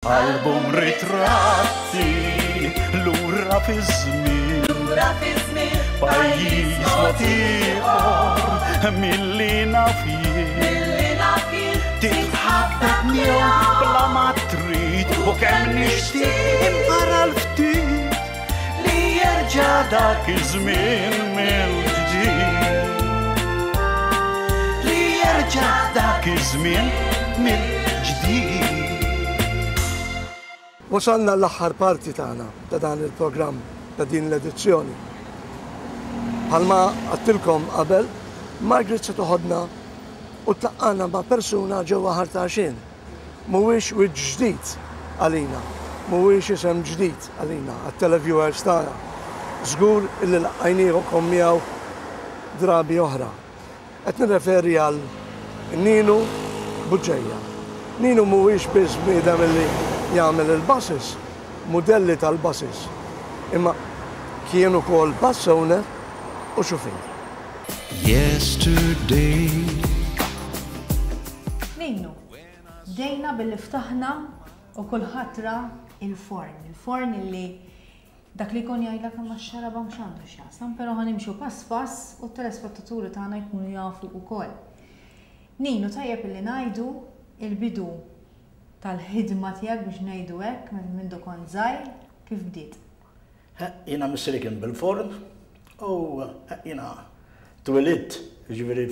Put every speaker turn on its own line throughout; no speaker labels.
Album ritratti lura fiż-żmien.
Lura fiż-żmien.
Pajjiż mod ieħor milli naf jien.
Milli naf jien.
Titħabbeb miegħu bla ma trid u kemm nixtieq imqara l-ftit li jerġa' dak iż-żmien mill-ġdid. Li jerġa' dak iż-żmien mill-ġdid.
Wasalna l-aħħar parti tagħna ta' dan il-programm ta' din l-edizzjoni. Bħalma għedtilkom qabel, Margaret se toħodna u tlaqqana ma' persuna ġewwa Ħal Tarxien. Mhuwiex wiċċ ġdid għalina, mhuwiex isem ġdid għalina, għat-televiewers tagħna. Żgur illi laqqajniekom miegħu drabi oħra. Qed nirreferi għal Ninu Bugeja. Ninu mhuwiex biss bniedem illi jagħmel il-buses, mudelli tal-buses, imma kien ukoll bus owner u xufier.
Yesterday.
Ninu, bdejna billi ftaħna u kulħadd ra il-forn, il-forn illi Dak li jkun jgħidlek imma x-xarabank x'għandu x'jaqsam, però ħa nimxu pass pass u t-telespettaturi tagħna jkunu jafu wkoll. Ninu, tajjeb illi ngħidu il-bidu tal-ħidma tiegħek biex ngħidu hekk minn mindu kont żgħir, kif bdiet?
Jiena missieri kien bil-forn u jiena twilidt, jiġifieri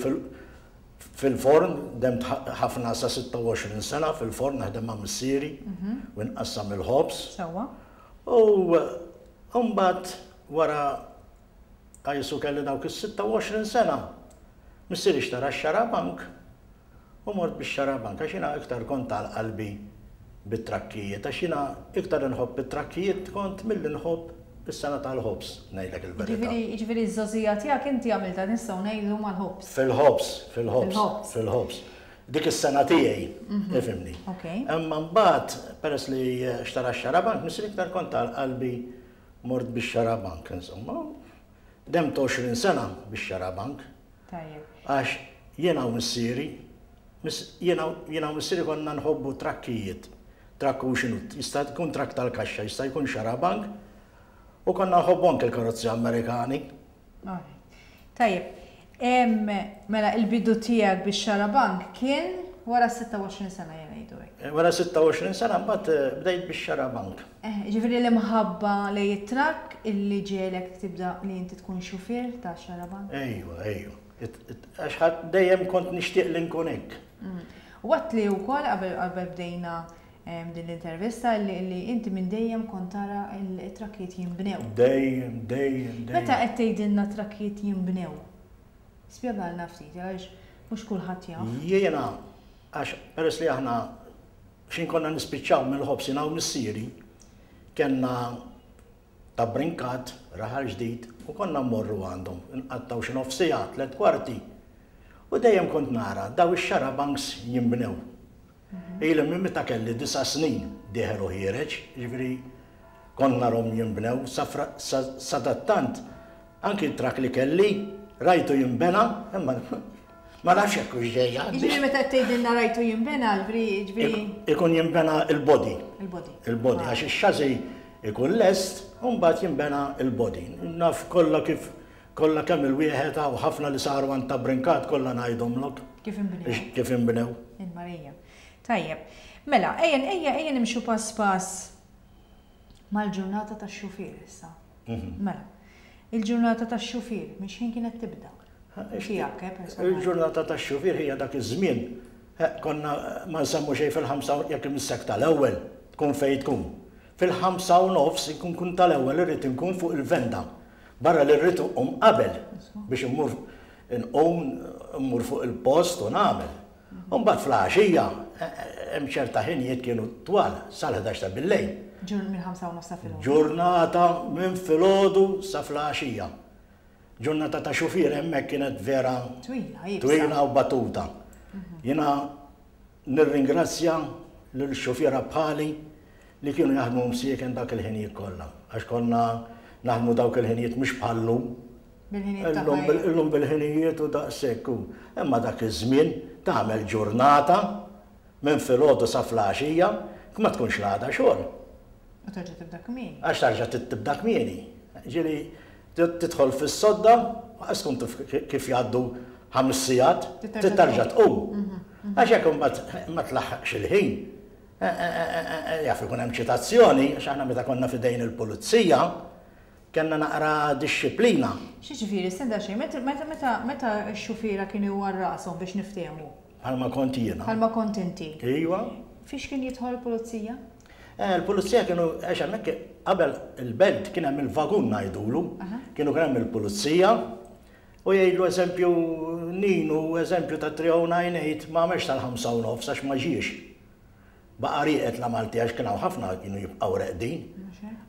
fil-forn, demt ħafna sa 26 sena fil-forn naħdem ma' missieri u nqassam il-ħobż.
Sewwa.
U mbagħad wara qisu kelli dawk is-26 sena, missieri xtara x-xarabank u mort bix-xarabank għax jiena iktar kont għal qalbi bit-trakkijiet għax jiena iktar inħobb it-trakkijiet kont milli nħobb is-sengħa tal-ħobż, ngħidlek il-verità.
Jiġifieri ż-żgħożija tiegħek inti għamiltha nistgħu ngħidu mal-ħobż.
Fil-ħobż, fil-ħobż, fil-ħobż. Dik is-sena tiegħi, ifhimni. Imma mbagħad peress li xtara x-xarabank, missieri iktar kont għal qalbi mort bix-xarabank, insomma. Demt 20 sena bix-xarabank. Għax jiena u missieri, jiena u missieri konna nħobbu trakkijiet. Trakk hu x'inhu, jista' jkun trakk tal-kaxxa, jista' jkun xarabank, u konna nħobbu anke l-karozzi Amerikani.
Tajjeb. Mela il-bidu tiegħek bix-xarabank kien wara 26 sena jien ngħidu hekk.
Wara 26 sena mbagħad bdejt bix-xarabank.
Ġifieri l-imħabba lejn it-trakk illi ġegħlek tibda li inti tkun xufier ta' xarabank?
Ejwa, ejwa. Għax dejjem kont nixtieq li nkun hekk.
U għedt li wkoll qabel bdejna din l-intervista li inti minn dejjem kont tara t-trakkijiet jinbnew.
Dejjem, dejjem, dejjem.
Meta qed tgħidilna trakkijiet jinbnew, spjegalna ftit għaliex mhux kulħadd jaf.
Jiena, għax peress li aħna x'in konna nispiċċaw mill-ħobż jiena u missieri, kellna ta' Brincat, Raħal Ġdid, u konna mmorru għandhom, nqattgħu xi nofs siegħa, tlett kwarti. U dejjem kont nara daw ix-xarabanks jinbnew. Ili minn meta kelli disa' snin dieħel u ħiereġ, jiġifieri kont narhom jinbnew sadattant anki t-trakk li kelli rajtu jinbena imma ma nafx jekk hux ġej għandi.
Jiġifieri meta qed tgħidilna rajtu jinbena, jiġifieri.
Ikun jinbena l-body.
Il-body.
Il-body għax ix-chassis ikun lest u mbagħad jinbena l-body. Naf kollha kif Kollha kemm il-wieħed hawn ħafna li saru għand ta' Brincat kollha ngħidhomlok.
Kif inbnew.
Kif inbnew.
Il-Marija. Tajjeb. Mela, ejja ejja ejja nimxu pass pass mal-ġurnata tax-xufier issa. Mela, il-ġurnata tax-xufier minn x'ħin kienet tibda? Tiegħek, eh, personali.
Il-ġurnata tax-xufier hija dak iż-żmien. Konna ma nsemmu xejn fil-ħamsa jekk imissek tal-ewwel tkun fejn tkun. Fil-ħamsa u nofs inkun kun tal-ewwel irrid inkun fuq il-venda. Barra li rrid inqum qabel biex immur inqum, immur fuq il-post u nagħmel. U mbagħad fl-għaxija hemm ċerta ħinijiet kienu twal sal-ħdax ta' billejl.
Ġur mill-ħamsa u nofs ta' filgħodu.
Ġurnata minn filgħodu sa fl-għaxija. Ġurnata ta' xufier hemmhekk kienet vera
Twila, iebsa.
Twila u batuta. Jiena Nirringrazzja lil xufiera bħali li kienu jaħdmu msieken dak il-ħinijiet kollha, għax konna naħdmu dawk il-ħinijiet mhux bħal-lum.
Bil-ħinijiet ta' ħajja.
Illum bil-ħinijiet u daqshekk u. Imma dak iż-żmien tagħmel ġurnata minn filgħodu sa fl-għaxija. Ma tkunx l-għada xogħol.
U terġa' tibda kmieni.
Għax tarġa' tibda kmieni. Ġieli tidħol fis-sodda, għax tkun taf kif jgħaddu ħames sigħat, terġa' tqum. Għax jekk imbagħad ma tlaħħaqx il-ħin, jaf ikun hemm ċitazzjoni, għax aħna meta konna f'idejn il-pulizija, kellna naqra dixxiplina.
X'jiġifieri, stenna xejn, meta meta x-xufiera kienu jgħu rashom biex niftehmu?
Bħalma kont jiena.
Bħalma kont inti.
Iva.
Fiex kien jidħol il-pulizija?
Eh, il-pulizija kienu, għax hemmhekk qabel il-belt kien hemm il-vagun ngħidulu, kienu kien hemm il-pulizija u jgħidlu eżempju Ninu, eżempju ta' 3098 ma għamilx tal-5 u nofs għax ma ġiex. Baqa' rieqed la Malti għax kien hawn ħafna kienu jibqgħu reqdin.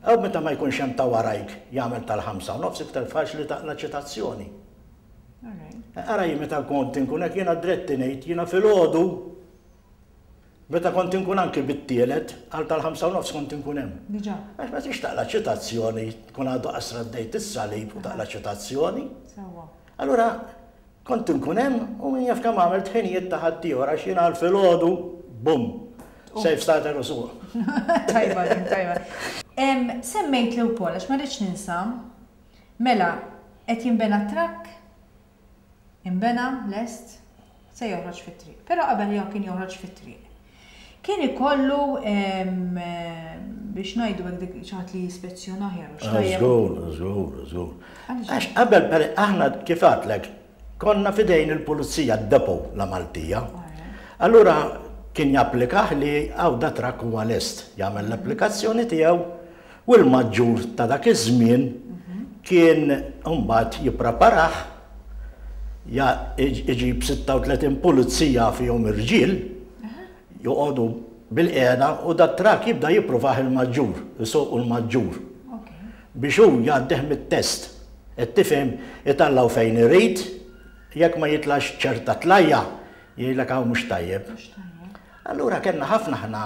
U meta ma jkunx hemm ta' warajk jagħmel tal-5 u nofs iktar faċli taqla' ċitazzjoni. Ara jien meta kont inkun hekk jiena dritt ngħid jiena filgħodu meta kont inkun anki bit-tielet għal tal-5 u nofs kont inkun hemm.
Diġà.
Għax ma tix taqla' ċitazzjoni tkun għadu qasra ddejt is-salib u taqla' ċitazzjoni.
Sewwa.
Allura kont inkun hemm u min jaf kemm għamilt ħinijiet ta' ħaddieħor għax jiena għal filgħodu bum. Safe starter u suq.
Tajba din, tajba. Semmejtli wkoll għax ma rridx ninsa Mela, qed jinbena t-trakk, inbena, lest, se joħroġ fit-triq. Però qabel kien joħroġ fit-triq, kien ikollu biex ngħidu hekk dik xi ħadd li jispezzjonah jew x'tajjeb.
Żgur, żgur, żgur. Għax qabel aħna kif għedtlek, konna f'idejn il-pulizija d-depot la Maltija. Allura kien japplikah li hawn da trakk huwa lest, jagħmel l-applikazzjoni tiegħu U l-maġġur ta' dak iż-żmien kien imbagħad jippreparah, iġib 36 pulizija fihom irġiel, joqogħdu bilqiegħda u dat-trakk jibda jippruvah il-maġġur, isuqu l-maġġur. Biex hu jgħaddih mit-test. Qed tifhem, itellgħu fejn irid, jekk ma jitlax ċerta tlajja, jgħidlek hawn mhux tajjeb. Allura kellna ħafna aħna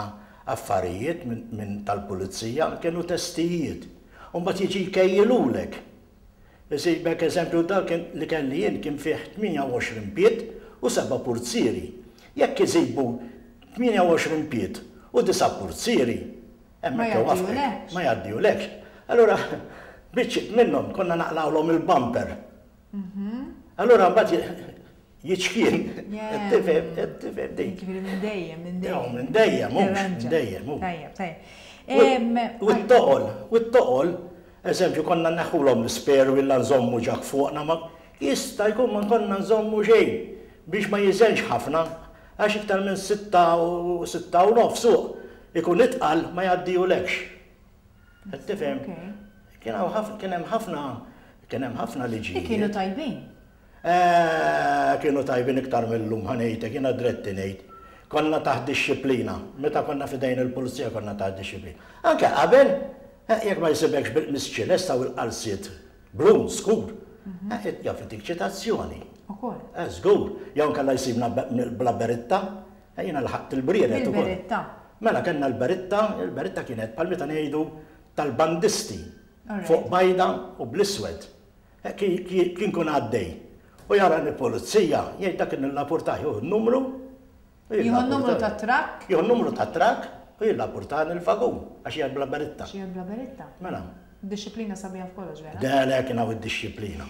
Affarijiet minn tal-pulizija kienu testijiet. U mbagħad jiġi jkejjilulek. Isibek eżempju dak li kelli jien kien fih 28 pied u seba' purzieri. Jekk isibu 28 pied u disa' purzieri, hemmhekk iwaffqek. Ma jgħaddihulekx. Allura biċċiet minnhom konna naqlgħulhom il-bumper. Allura mbagħad jiċkien. Tifhem, tifhem
dik. Jiġifieri minn dejjem, minn dejjem.
Minn dejjem, minn dejjem.
Tajjeb, tajjeb.
U t-toqol, u t-toqol, eżempju, konna neħħulhom l-spare wheel la nżommu ġak fuqna ma jista' jkun ma konna nżommu xejn biex ma jiżenx ħafna għax iktar minn sitta u sitta u nofs suq ikun itqal ma jgħaddihulekx. Qed tifhem? Kien hawn kien hemm ħafna kien hemm ħafna liġijiet.
Kienu tajbin.
Eh, kienu tajbin iktar mil-lum, ħa ngħidlek, jiena dretti ngħid. Konna taħt dixxiplina. Meta konna f'idejn il-pulizija konna taħt dixxiplina. Anke qabel, eh, jekk ma jsibekx bil-qmis ċilesta u l-qalziet blu, skur, eh, jaf itik ċitazzjoni.
Ukoll.
Eh, żgur. Jew inkella jsibna bla beritta, eh, jiena lħaqt il-brieret ukoll.
Bil-beritta.
Mela kellna l-beritta, il-beritta kienet bħal meta ngħidu tal-bandisti, fuq bajda u bl-iswed. Kien kun għaddej u jarani pulizija, jgħid dak nillapurtah, jieħu n-numru.
Jieħu n-numru tat-trakk?
Jieħu n-numru tat-trakk u jillapurtani l-vagun, għax hija bla beritta.
Għax hija bla beritta.
Mela.
Dixxiplina sabiħa f'kollox, vera?
Le, le, kien hawn id-dixxiplina.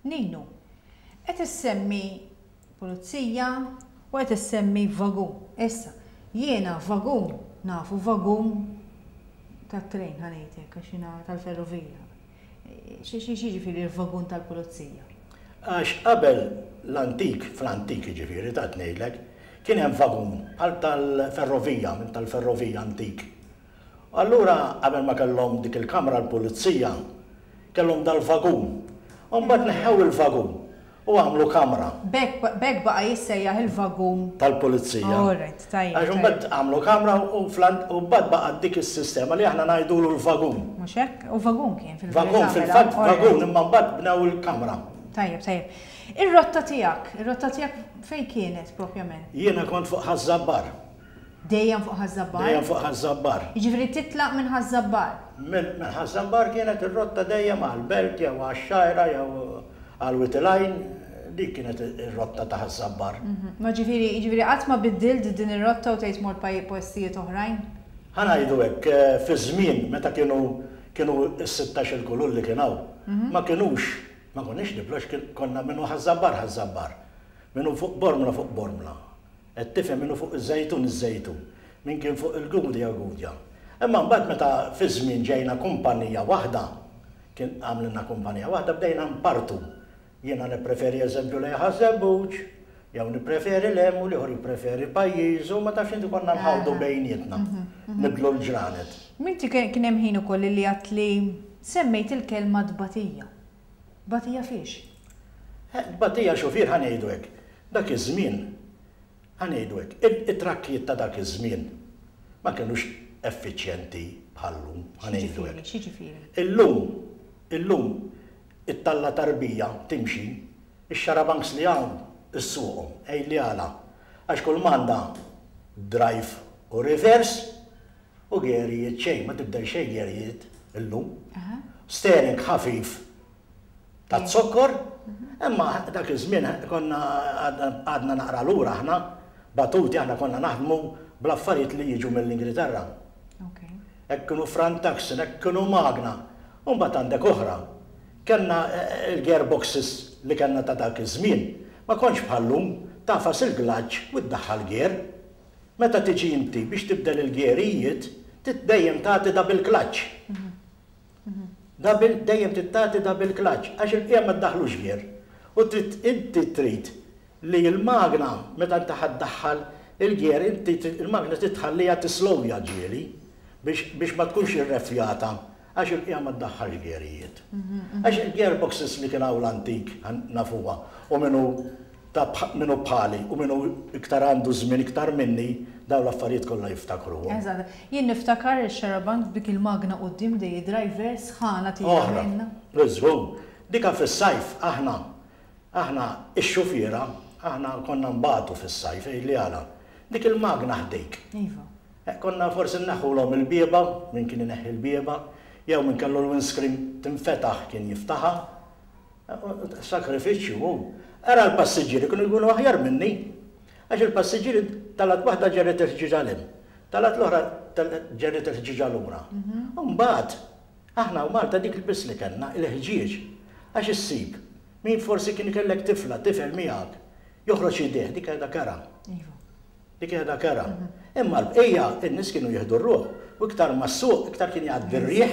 Ninu, qed issemmi pulizija u qed issemmi vagun. Issa, jiena vagun nafu vagun tat-trejn ħa ngħid hekk għax jiena tal-ferrovija. X'jiġifieri l-vagun tal-pulizija?
Għax qabel l-antik, fl-antik jiġifieri ta' ngħidlek, kien hemm vagun bħal tal-ferrovija, minn tal-ferrovija antik. U allura qabel ma kellhom dik il-kamra l-pulizija, kellhom dal-vagun. U mbagħad neħħew il-vagun U għamlu kamra.
B'hekk b'hekk baqa' jissejjaħ il-vagun.
Tal-pulizija.
All right, tajjeb.
Għax imbagħad għamlu kamra u u mbagħad baqgħet dik is-sistema li aħna ngħidulu l-vagun.
Mhux hekk? U vagun kien fil-verità.
Vagun fil-fatt vagun imma mbagħad bnew il-kamra.
Tajjeb, tajjeb. Ir-rotta tiegħek, ir-rotta tiegħek fejn kienet propjament?
Jiena kont fuq Ħaż-Żabbar.
Dejjem fuq Ħaż-Żabbar?
Dejjem fuq Ħaż-Żabbar.
Jiġifieri titlaq minn Ħaż-Żabbar?
Minn Ħaż-Żabbar kienet ir-rotta dejjem għall-Belt jew għax-Xgħajra jew għal Wied il-Għajn, dik kienet ir-rotta ta' Ħaż-Żabbar.
Ma ġifieri, jiġifieri qatt ma biddilt din ir-rotta u tgħid mort postijiet oħrajn?
Ħa ngħidu hekk, fiż-żmien meta kienu kienu s-sittax-il kulur li kien hawn, ma kinux, ma konniex niblu għax konna min hu Ħaż-Żabbar Ħaż-Żabbar, min hu fuq Bormla fuq Bormla. Qed tifhem min hu fuq iż-Żejtun iż-Żejtun, min kien fuq il-Gudja Gudja. Imma mbagħad meta fiż-żmien ġejna kumpanija waħda, kien għamlilna kumpanija waħda bdejna npartu. Jiena nippreferi eżempju lejn Ħaż-Żebbuġ, jew nippreferi 'l hemm u l-ieħor jippreferi pajjiżu, ma tafx inti konna nħawdu bejnietna, nibdlu l-ġranet.
Inti kien hemm ħin ukoll li għedt li semmejt il-kelma tbatija. Tbatija fiex?
Tbatija xufier ħa ngħidu hekk. Dak iż-żmien, ħa ngħidu hekk, it-trakkijiet ta' dak iż-żmien ma kinux effiċjenti bħal-lum, ħa ngħidu hekk.
X'jiġifieri?
Illum, illum it-talla tarbija timxi, ix-xarabanks li hawn issuqhom. Għidli għala? Għax kull m'għandha drive u reverse u gerijiet xejn, ma tibdel xejn gerijiet illum. Steering ħafif taz-zokkor, imma dak iż-żmien konna għadna naqra lura aħna, batuti aħna konna naħdmu bl-affarijiet li jiġu mill-Ingilterra. Hekk kienu front axle, hekk kienu magna. U mbagħad għandek oħra. Kellna l-gearboxes li kellna ta' dak iż-żmien, ma kontx bħal-lum, tagħfas il-glaċċ u ddaħħal gear. Meta tiġi inti biex tibdel il-gearijiet, trid dejjem tagħti double clutch. Double, dejjem trid tagħti double clutch, għax il-bqija ma ddaħħlux gear. U trid, inti trid li l-magna meta inti ħa ddaħħal il-gear, inti trid, il-magna trid tħalliha tislowja ġieli biex, biex ma tkunx irreffjata għax il-bqija ma ddaħħalx gearijiet. Għax il-gearboxes li kien hawn l-antik, nafuha, u min hu ta' min hu bħali u min hu iktar għandu żmien iktar minni, dawn l-affarijiet kollha jiftakruhom.
Eżatt. Jien niftakar ix-xarabank b'dik il-magna quddiem dej id-driver sħana tira minnha.
Oħra. Żgur. Dika fis-sajf aħna, aħna x-xufiera, aħna konna nbatu fis-sajf, għidli għala. Dik il-magna ħdejk.
Iva.
Konna forsi nneħħulhom il-bieba, min kien ineħħi l-bieba, jew min kellu l-windscreen tinfetaħ kien jiftaħha. Sagrifiċċju hu. Ara l-passiġġieri kienu jkunu aħjar minni. Għax il-passiġġieri talat waħda ġerret il-ħġieġa 'l hemm, talat l-oħra ġerret il-ħġieġa lura. U mbagħad aħna u Malta dik biss li kellna, il-ħġieġ. Għax issib min forsi kien kellek tifla, tifel miegħek, joħroġ idejh, dik qiegħda kerha. Dik qiegħda kerha. Imma l-bqija in-nies kienu jieħdu r-ruħ u iktar ma ssuq iktar kien jgħaddi r-riħ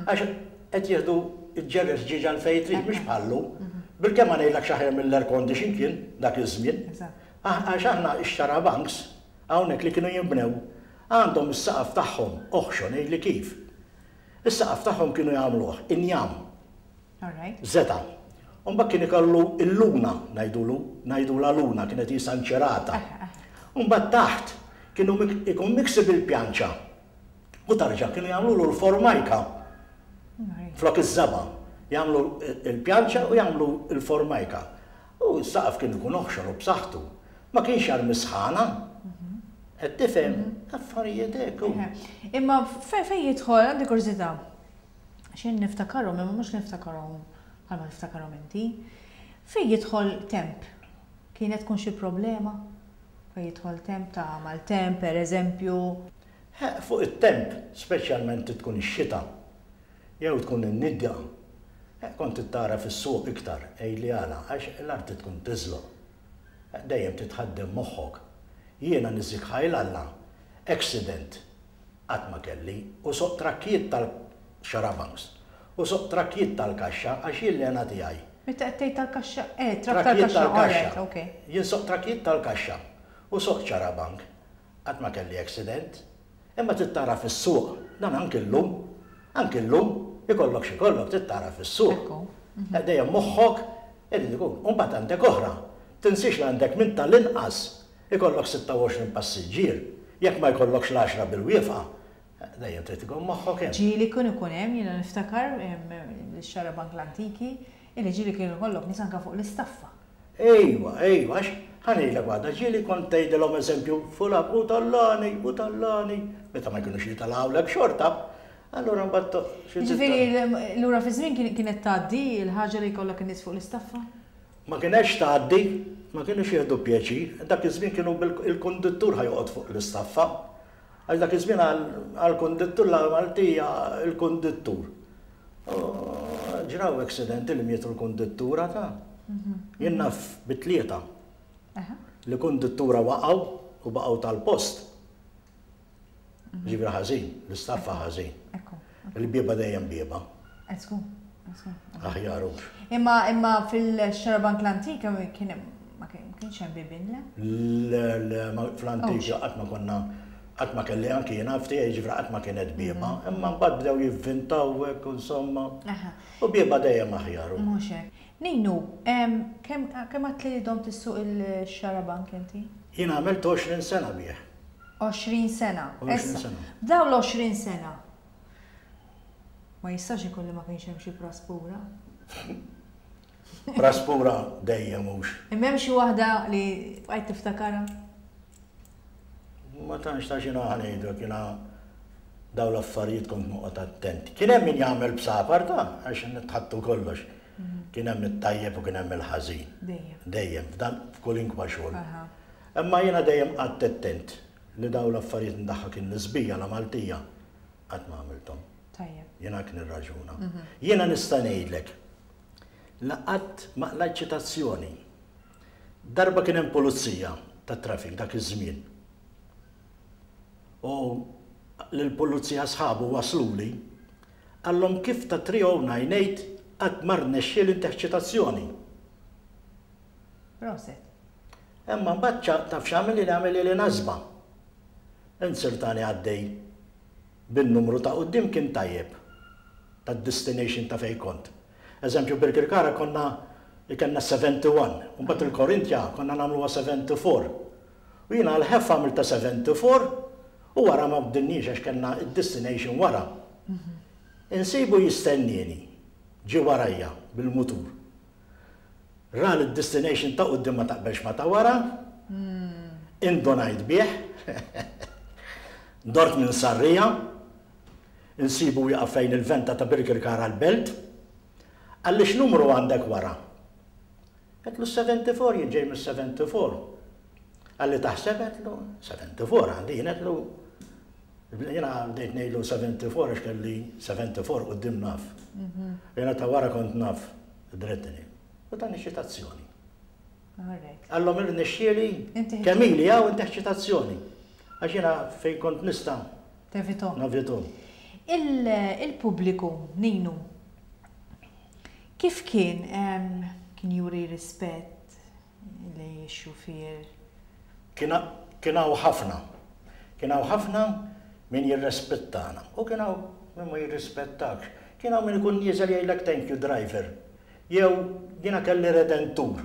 għax qed jieħdu ġġerri l-ħġieġa għal fejn trid mhux bħal-lum. Bilkemm ma ngħidlekx aħjar mill-air condition kien dak iż-żmien. Għax aħna x-xarabanks hawnhekk li kienu jinbnew għandhom is-saqaf tagħhom oħxon għidli kif. Is-saqaf tagħhom kienu jagħmluh injam. Żeta'. U mbagħad kien ikollu l-luna, ngħidulu, ngħidulha luna, kienet qisha nċerata. U mbagħad taħt kienu ikun miksi bil-pjanċa. U tarġa' kienu jagħmlulu l-formajka flok iż-żaba'. Jagħmlu l-pjanċa u jagħmlu l-formajka. U s-saqaf kien ikun oħxon u b'saħħtu. Ma kienx jarmi sħana. Qed tifhem? Affarijiet hekk.
Imma fejn jidħol, għandi kurżità. Għax jien niftakarhom imma mhux niftakarhom bħalma tiftakarhom inti. Fejn jidħol temp? Kienet tkun xi problema? Fejn jidħol temp ta' maltemp pereżempju?
Fuq it-temp, speċjalment tkun ix-xita jew tkun in-nidja, kont trid tara fis-suq iktar, għidli għala, għax l-art tkun tiżloq. Dejjem trid tħaddem moħħok. Jiena niżżik ħajl Alla, accident Qatt ma kelli, u soqt trakkijiet tal-xarabanks, u soqt trakkijiet tal-kaxxa għax jien l-hena tiegħi.
Meta qed tgħid tal-kaxxa, eh, trakk tal-kaxxa, all right, ok.
Jien soqt trakkijiet tal-kaxxa u soqt xarabank. Qatt ma kelli accident. Imma trid tara fis-suq, dan anki llum, anki llum, ikollok x'ikollok trid tara fis-suq.
Ekku.
Dejjem moħħok irid ikun. U mbagħad għandek oħra. Tinsiex li għandek minn tal-inqas Ikollok 26 passiġġier, jekk ma jkollokx l-għaxra bil-wieqfa, dejjem trid ikun moħħok hemm.
Ġieli kien ikun hemm, jiena niftakar l-xarabank l-antiki, illi ġieli kien ikollok nies anke fuq l-istaffa.
Ejwa, ejwa, għax ħa ngħidlek waħda, ġieli kont tgħidilhom eżempju, fulan u tallani, u tallani, meta ma jkunux jitalgħulek xorta, allura mbagħad
xi trid Jiġifieri lura fiż-żmien kienet tgħaddi l-ħaġa li jkollok in-nies fuq l-istaffa?
Ma kinetx tgħaddi, ma kinux jieħdu pjaċir. Dak iż-żmien kienu il-konduttur ħa joqgħod fuq l-istaffa. Għax dak iż-żmien għall-kondittur la Maltija il-kondittur. Ġraw accidenti li mietu l-kondittura ta' jien naf bit-tlieta li kondittura waqgħu u baqgħu tal-post. Ġifieri ħażin, l-istaffa ħażin. Il-bieba dejjem bieba. Aħjar hux.
Imma imma fil-xarabank l-antika kien ma kienx hemm bibien le?
Le, le, fl-antika qatt ma konna qatt ma kelli anki jiena ftiegħi ġifieri qatt ma kienet bieba, imma mbagħad bdew jivvintaw hekk insomma. U bieba dejjem aħjar.
Mhux hekk. Ninu, kemm għedt li domt issuq il-xarabank inti?
Jien għamilt 20 sena bih.
20 sena.
20 sena.
F'dawn l-20 sena ma jistax ikun li ma kienx hemm xi praspura.
Praspura dejjem hux.
Imma hemm xi waħda li bqajt tiftakarha?
Ma tantx ta' xi ngħidlek jiena dawn l-affarijiet kont noqgħod attent. Kien hemm min jagħmel bsapar ta' għax nitħattu kollox. Kien hemm it-tajjeb u kien hemm il-ħażin.
Dejjem.
Dejjem, f'dan f'kolinkwa xogħol. Imma jiena dejjem qgħadt attent li dawn l-affarijiet ndaħħak in-nisbija la Maltija qatt ma għamilthom.
Tajjeb.
Jiena hekk nirraġuna. Jiena nista' ngħidlek li qatt ma qlajt ċitazzjoni. Darba kien hemm pulizija tat-traffic dak iż-żmien. U lill-pulizija sħabu wasluli, qallhom kif ta' 3098 qatt ma rnexxieli ntih ċitazzjoni.
Proset.
Imma mbagħad taf x'għamilli li għamilli nasba. Inzertani għaddej bin-numru ta' quddiem kien tajjeb tad-destination ta' fejn kont. Eżempju Birkirkara konna kellna 71, u mbagħad il-Korintja konna nagħmluha 74. U jiena għall-ħeffa għamiltha 74 u wara ma bdilniex għax kellna d-destination wara. Insibu jistennieni, ġie warajja bil-mutur. Ra li d-destination ta' quddiem ma taqbelx ma' ta' wara, indunajt bih, dort minn Sarria, insibu wieqaf fejn il-venta ta' Birkirkara l-Belt, qalli x'numru għandek wara? Għedtlu 74, jien ġej mis-74. Qalli taħseb? Għedtlu 74 għandi jien, għedtlu jiena bdejt ngħidlu 74 għax kelli 74 quddiem naf. Jiena ta' wara kont naf. Drettini. U tani ċitazzjoni. Għallhom irnexxieli kemm ili hawn intih ċitazzjoni. Għax jiena fejn kont nista'
Tevitom.
Navitom.
Il-pubbliku, Ninu, kif kien kien juri rispett lejn ix-xufier?
Kien hawn ħafna. Kien hawn ħafna min jirrespettana u kien hawn min ma jirrispettakx. Kien hawn min ikun nieżel jgħidlek thank you driver. Jew jiena kelli redentur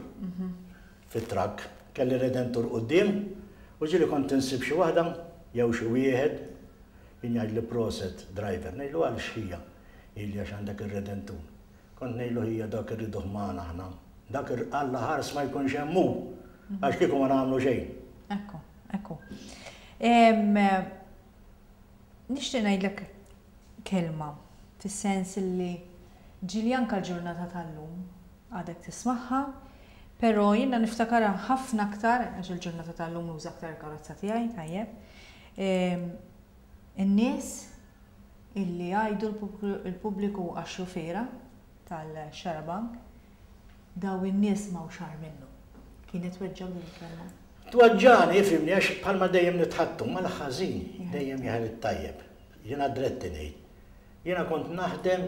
fit-trakk, kelli redentur quddiem u ġieli kont insib xi waħda jew xi wieħed kien jgħidli proset driver. Ngħidlu għal x'hija? Jgħidli għax għandek ir-redentur. Kont ngħidlu ħija dak irriduh magħna aħna. Dak Alla ħars ma jkunx hemm hu għax kieku ma nagħmlu xejn.
Ekku, ekku. Nixtieq ngħidlek kelma fis-sens li ġieli anke l-ġurnata tal-lum għadek tismagħha, però jiena niftakarha ħafna aktar għax il-ġurnata tal-lum nuża aktar il-karozza tiegħi, tajjeb. In-nies illi jgħidu l-pubbliku għax-xufiera tal-xarabank, daw in-nies m'hawnx agħar minnhom. Kienet tweġġgħek din il-kelma?
Tweġġagħni, ifhimni, għax bħalma dejjem nitħaddtu mal-ħażin dejjem jeħel it-tajjeb. Jiena dretti ngħid. Jiena kont naħdem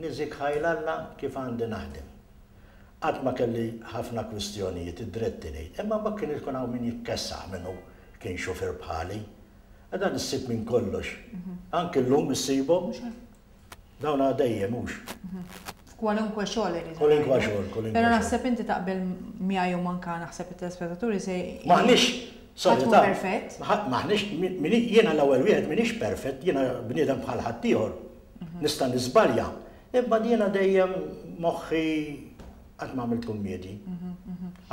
niżik ħajl Alla kif għandi naħdem. Qatt ma kelli ħafna kwistjonijiet, id-dretti ngħid. Imma mbagħad kien ikun hawn min jitkessaħ minnu kien xufier bħali. Dan issib minn kollox. Anki llum issibhom. Dawn dejjem hux.
F'kwalunkwe xogħol irid.
Kwalunkwe xogħol, kwalunkwe.
Però naħseb inti taqbel miegħi u manka naħseb it-telespettaturi se
Maħniex
Sorry, ta' perfett.
Maħniex jiena l-ewwel wieħed m'iniex perfett, jiena bniedem bħal ħaddieħor. Nista' niżbalja. Imma jiena dejjem moħħi qatt ma għamilt kummedji.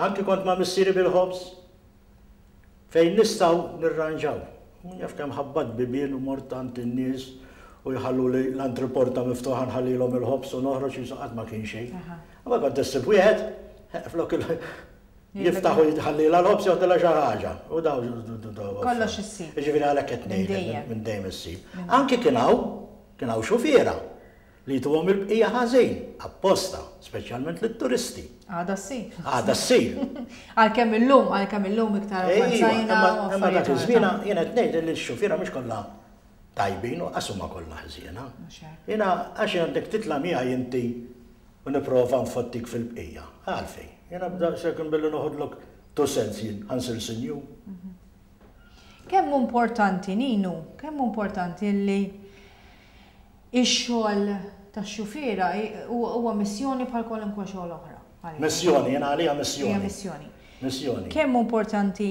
Anki kont ma' missieri bil-ħobż. Fejn nistgħu nirranġaw. Min jaf kemm ħabbatt bibien u mort għand in-nies u jħalluli l-antriporta miftuħa nħallilhom il-ħobż u noħroġ qisu qatt ma kien xejn. Imma kont issib wieħed, flok il. Jiftaħ u jħallilha l-ħobż joħdilha xi ħaġa. U daw.
Kollox issib.
Jiġifieri għalhekk qed ngħidlek minn dejjem issib. Anki kien hawn, kien hawn xufiera li jtuhom il-bqija ħażin, apposta, speċjalment lit-turisti.
Għadha ssir.
Għadha ssir.
Għalkemm illum, għalkemm illum iktar avvanzajna.
Imma dak iż-żmien jien qed ngħid li x-xufiera mhux kollha tajbin u qas huma kollha ħżiena. Jiena għax għandek titla' miegħi inti u nipprova nfottik fil-bqija. Għalfejn? Jiena b'daqshekk billi noħodlok two cents jien ħa nsir sinjur.
Kemm hu importanti, Ninu, kemm hu importanti li x-xogħol tax-xufiera huwa missjoni bħal kwalunkwe xogħol oħra.
Missjoni, jiena għalija missjoni.
Hija missjoni.
Missjoni.
Kemm hu importanti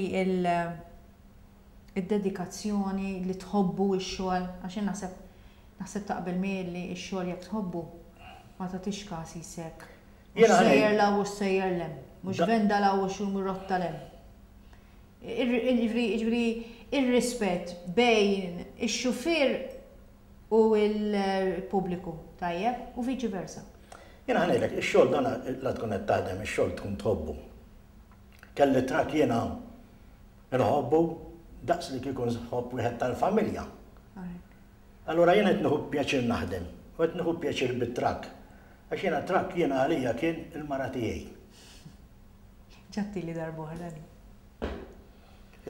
il-dedikazzjoni li tħobbu x-xogħol, għax jien naħseb Naħseb taqbel miegħi li x-xogħol jekk tħobbu ma tagħtix każ qisek. Mhux sejjer 'l hawn u sejjer 'l hemm. Mhux venda 'l hawn u xi rotta 'l hemm. Jiġifieri ir-rispett bejn ix-xufier u l-pubbliku tajjeb u viċi versa.
Jiena ħa ngħidlek, ix-xogħol dan la tkun qed taħdem ix-xogħol tkun tħobbu. Kelli trakk jiena nħobbu daqs li kieku nħobb wieħed tal-familja. Allura jien qed nieħu pjaċir naħdem u qed nieħu pjaċir bit-trakk. Għax jiena t-trakk jiena għalija kien il-mara tiegħi.
Ġattili darb'oħra din.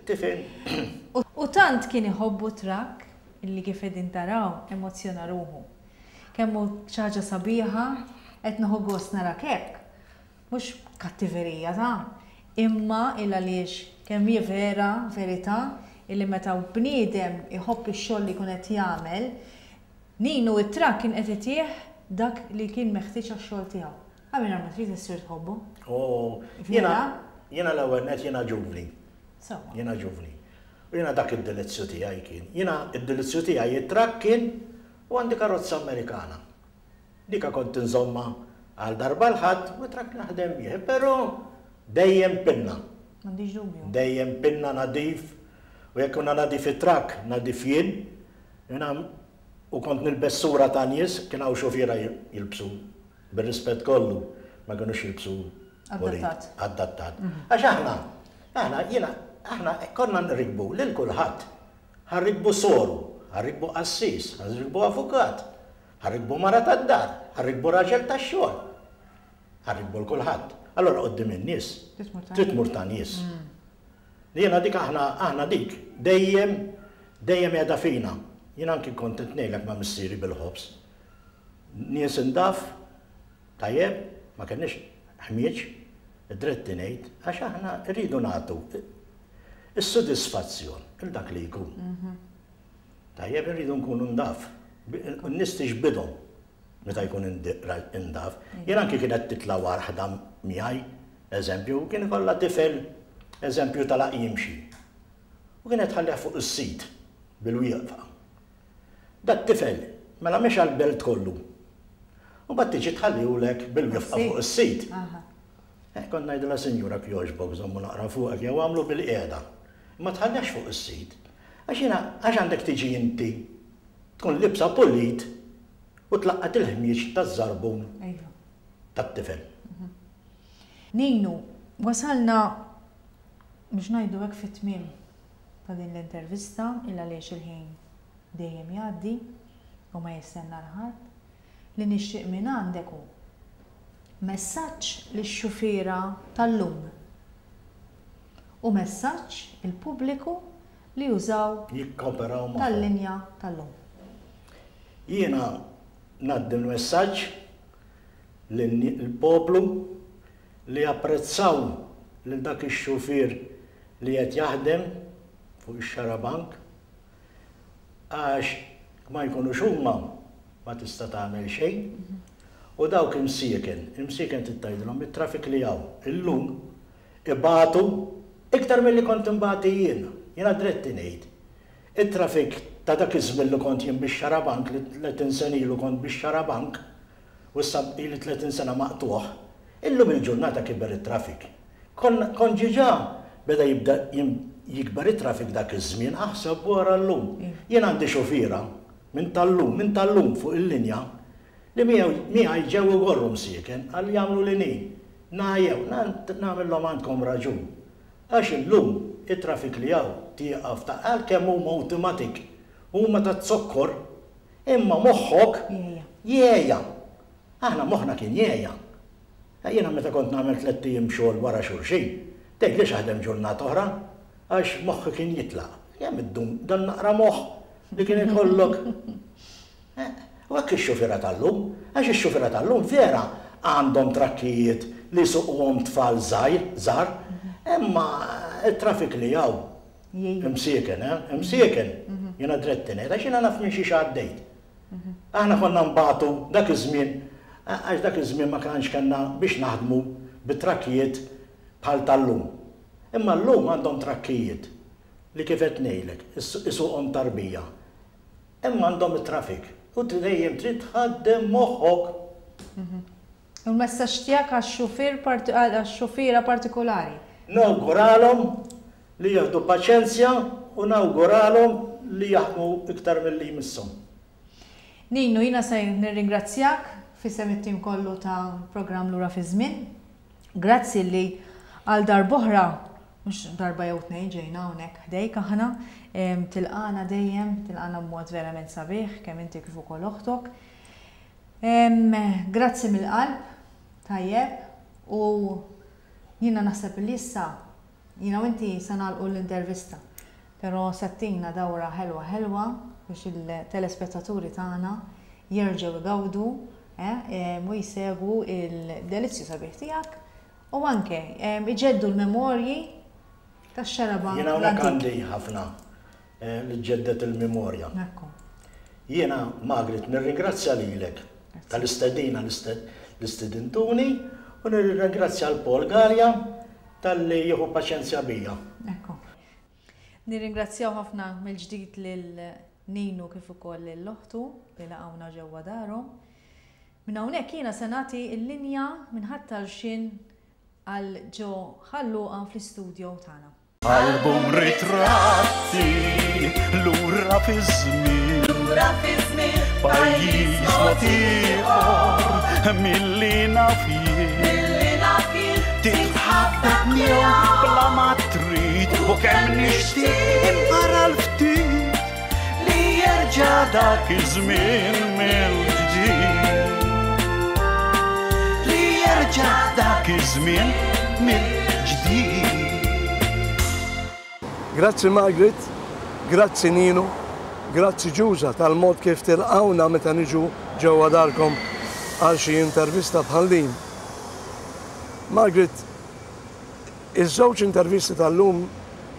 Tifhem?
U tant kien iħobbu t-trakk illi kif qegħdin taraw emozzjona ruħu. Kemm hu xi ħaġa sabiħa, qed nieħu gost narak hekk. Mhux b'kattiverija ta, imma il għaliex kemm hi vera, verità, illi meta bniedem iħobb ix-xogħol li jkun qed jagħmel, Ninu it-trakk kien qed itih dak li kien meħtieġ għax-xogħol tiegħu. Għal mingħajr ma trid issir tħobbu.
Oh, jiena, jiena l-ewwel nett jiena ġuvni.
Sewwa.
Jiena ġuvni. U jiena dak id-delizzju tiegħi kien. Jiena id-delizzju tiegħi it-trakk kien u għandi karozza Amerikana. Dika kont inżommha għal darba l-Ħadd u trakk naħdem bih, però dejjem pinna.
M'għandix dubju.
Dejjem pinna nadif u jekk kuna nadif it-trakk, nadif jien. Jiena u kont nilbes sura ta' nies, kien hawn xufiera jilbsu, bir-rispett kollu, ma kinux jilbsu
Adattat.
Adattat. Għax aħna, aħna, jiena, aħna konna nrikbu lil kulħadd. Ħa nrikbu soru, ħa nrikbu qassis, ħa nrikbu avukat. Ħa rikbu mara tad-dar, ħa rikbu raġel tax-xogħol. Ħa rikbu 'l kulħadd. Allura quddiem in-nies trid tmur ta' nies. Jiena dik aħna aħna dik dejjem dejjem qiegħda fina. Jien anki kont qed ngħidlek ma' missieri bil-ħobż. Nies indaf, tajjeb, ma kenniex ħmieġ, id-dritt ngħid, għax aħna rridu nagħtu is-sodisfazzjon il dak li jkun. Tajjeb irridu nkunu ndaf. N-nies tixbidhom meta jkun indaf. Jien anki kienet titla' waħda miegħi, eżempju, kien ikollha tifel eżempju talaq jimxi. U kienet tħallih fuq is-sit bil-wieqfa. Dat-tifel mela mexa l-belt kollu. U mbagħad tiġi tħallihulek bil-wieqfa fuq is-sit. Eh, kont ngħidilha sinjura kjoġbok żommu naqra fuqek jew għamlu bil-qiegħda. Ma tħallihx fuq is-sit. Għax jiena, għax għandek tiġi inti, tkun libsa pulit u tlaqqat il-ħmieġ taż-żarbun tat-tifel.
Ninu, wasalna biex ngħidu hekk fit-tmiem ta' din l-intervista, il għaliex il-ħin dejjem jgħaddi u ma jistenna 'l ħadd. Li nixtieq mingħandek hu messaġġ lix-xufiera tal-lum. U messaġġ il-pubbliku li jużaw
Jikkooperaw magħhom.
tal-linja tal-lum.
Jiena ngħaddi l-messaġġ lill-poplu li japprezzaw lil dak ix-xufier li qed jaħdem fuq ix-xarabank għax ma jkunux huma ma tista' tagħmel xejn u dawk imsieken, imsieken trid tgħidilhom it-traffic li hawn illum Ibatu iktar milli kont inbati jien. Jiena dritt ingħid. It-traffic ta' dak iż-żmien li kont jien bix-xarabank, li 30 sena ilu kont bix-xarabank, u issa ili 30 sena maqtugħ, illum il-ġurnata kiber it-traffic. Konna, kont ġiġa beda jibda jikber it-traffic dak iż-żmien, aħseb u ara llum. Jien għandi xufiera minn tal-lum, minn tal-lum fuq il-linja, li miegħi ġew igorru msieken, qal jagħmlu li ni. Ngħajjew, nagħmilhom għandkom raġun. Għax illum it-traffic li hawn tieqaf ta' għalkemm huma automatic, huma taz-zokkor, imma moħħok jgħejja. Aħna moħħna kien jgħejja. Jiena meta kont nagħmel tlett ijiem xogħol wara xulxin, tgħidlix aħdem ġurnata oħra, għax moħħi kien jitlaq. Kemm iddum dan naqra moħħ li kien ikollok. U hekk ix-xufiera tal-lum, għax ix-xufiera tal-lum vera għandhom trakkijiet li jsuquhom tfal żgħir, żgħar, imma t-traffic li hawn, imsieken, eh, imsieken, jiena dritt ngħid, għax jiena naf minn xiex għaddejt. Aħna konna nbatu dak iż-żmien, għax dak iż-żmien ma kanx kellna biex naħdmu bi trakkijiet bħal tal-lum. Imma llum għandhom trakkijiet li kif qed ngħidlek, isuqhom tarbija. Imma għandhom it-traffic u dejjem trid tħaddem moħħok.
U l-messaġġ tiegħek għax-xufier għax-xufiera partikulari?
Nawguralhom li jieħdu paċenzja u nawguralhom li jaħdmu iktar milli jmisshom.
Ninu, jiena se nirringrazzjak f'isem it-tim kollu ta' programm Lura fiż-Żmien. Grazzi li għal darb'oħra, mhux darba jew tnejn ġejna hawnhekk ħdejk aħna, tilqagħna dejjem, tilqagħna b'mod verament sabiħ, kemm inti kif ukoll oħtok. Grazzi mill-qalb, tajjeb, u jiena naħseb li issa jiena u inti se nagħlqu l-intervista, però se ttina dawra ħelwa ħelwa biex il-telespettaturi tagħna jerġgħu jgawdu u jsegwu l-delizzju sabiħ tiegħek u anke iġeddu l-memorji tax-xaraba
Jiena hawnhekk għandi ħafna li ġġedded il-memorja. Jiena, Margaret, nirringrazzja lilek tal-istedina li stedintuni u nirringrazzja 'l Paul Galea talli jieħu paċenzja bija.
Ekku. Nirringrazzjaw ħafna mill-ġdid lil Ninu kif ukoll lil oħtu li laqgħuna ġewwa darhom. Minn hawnhekk jiena se nagħti l-linja minn Ħat-Tarxien għal ġo Ħal Luqa fl-istudio tagħna.
Album ritratti lura fiż-żmien.
Lura fiż-żmien.
Pajjiż mod ieħor milli naf jien.
Milli naf jien.
Titħabbeb miegħu bla ma trid u kemm nixtieq imqara l-ftit li jerġa' dak iż-żmien mill-ġdid. Li jerġa' dak iż-żmien mill-ġdid.
Grazzi Margaret, grazzi Ninu, grazzi Ġuża tal-mod kif tilqgħuna meta niġu ġewwa darkom għal xi intervista bħal din. Margaret, iż-żewġ intervisti tal-lum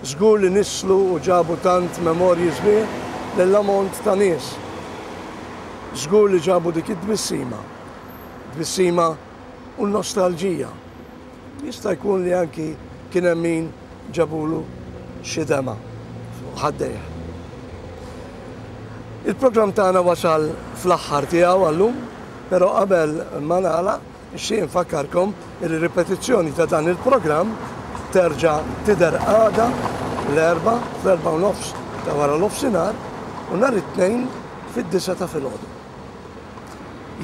żgur li nisslu u ġabu tant memorji sbieħ lil ammont ta' nies. Żgur li ġabu dik it-tbissima. Tbissima u n-nostalġija. Jista' jkun li anki kien hemm min ġabulu xi demgħa fuq ħaddejh. Il-programm tagħna wasal fl-aħħar tiegħu għallum, però qabel ma nagħlaq nixtieq infakkarkom li ripetizzjoni ta' dan il-programm terġa' tidher għada l-Erbgħa fl-4:30 ta' wara nofsinhar u nhar it-Tnejn fid-disgħa ta' filgħodu.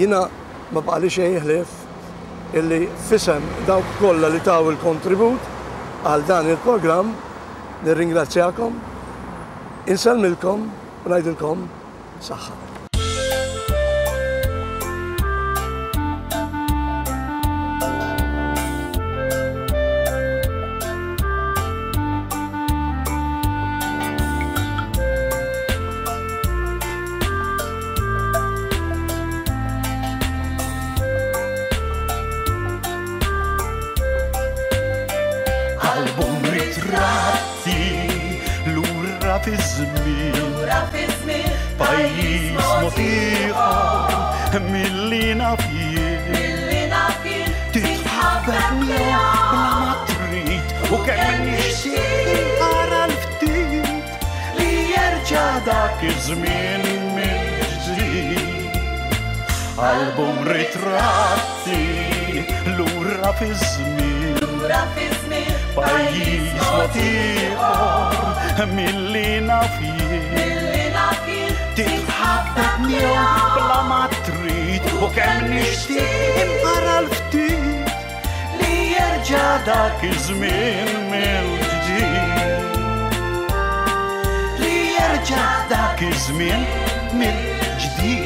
Jiena ma baqali xejn ħlief illi f'isem dawk kollha li taw il-kontribut għal dan il-programm nirringrazzjakom, insellmilkom u ngħidilkom saħħa.
Album ritratti lura fiż-żmien.
Lura fiż-żmien.
Pajjiż mod ieħor milli naf jien.
Milli naf jien.
Titħabbeb miegħu bla ma trid u kemm nixtieq inqara l-ftit li jerġa' dak iż-żmien mill-ġdid. Album ritratti lura fiż-żmien.
Lura fiż-żmien.
Pajjiż mod ieħor milli naf jien.
Milli naf jien.
Titħabbeb miegħu bla ma trid u kemm nixtieq imqara l-ftit li. jerġa' dak iż-żmien mill-ġdid. Li jerġa' dak iż-żmien mill-ġdid.